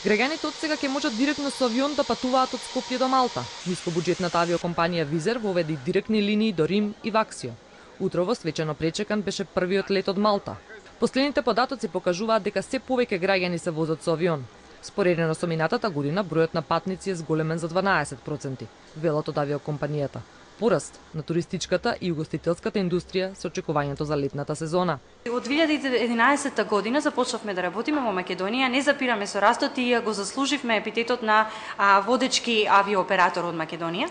Граѓаните од сега ќе можат директно со авион да патуваат од Скопје до Малта. Нискобуџетната авиокомпанија Визер воведе директни линии до Рим и Ваксио. Утрово свечено пречекан беше првиот лет од Малта. Последните податоци покажуваат дека се повеќе граѓани се возат со авион. Споредено со минатата година, бројот на патници е зголемен за 12%, велат од авиокомпанијата. Пораст на туристичката и угостителската индустрија со очекувањето за летната сезона. Од 2011 година започнавме да работиме во Македонија, не запираме со растот и го заслуживме епитетот на водечки авиооператор од Македонија.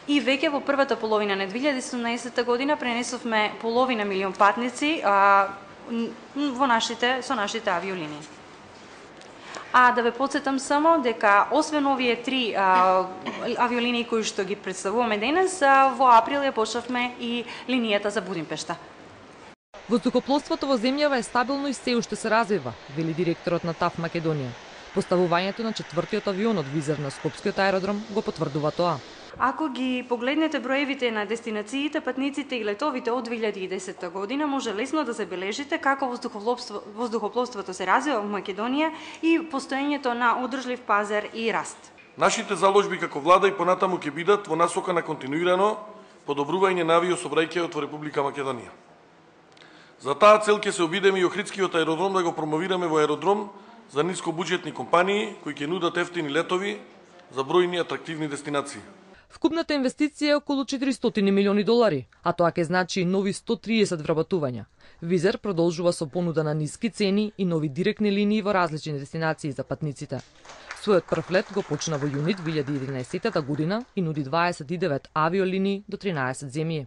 И веќе во првата половина на 2017 година пренесовме половина милион патници со нашите авиолинии. А да ве потсетам само дека освен овие три авиолинии кои што ги представуваме денес, во април ја почнавме и линијата за Будимпешта. Воздухопловството во земјава е стабилно и се уште се развива, вели директорот на ТАФ Македонија. Поставувањето на четвртиот авион од Визер на Скопскиот аеродром го потврдува тоа. Ако ги погледнете броевите на дестинациите, патниците и летовите од 2010 година, може лесно да забележите како воздухопловството се развива во Македонија и постоењето на одржлив пазар и раст. Нашите заложби како влада и понатаму ќе бидат во насока на континуирано подобрување на авиосообраќајот во Република Македонија. За таа цел ќе се обидеме и Охридскиот аеродром да го промовираме во аеродром за нискобуџетни компании кои ќе нудат ефтини летови за бројни атрактивни дестинации. Вкупната инвестиција е околу 400 милиони долари, а тоа ќе значи нови 130 вработувања. Визер продолжува со понуда на ниски цени и нови директни линии во различни дестинации за патниците. Својот прв лет го почна во јуни 2011 година и нуди 29 авиолинии до 13 земји.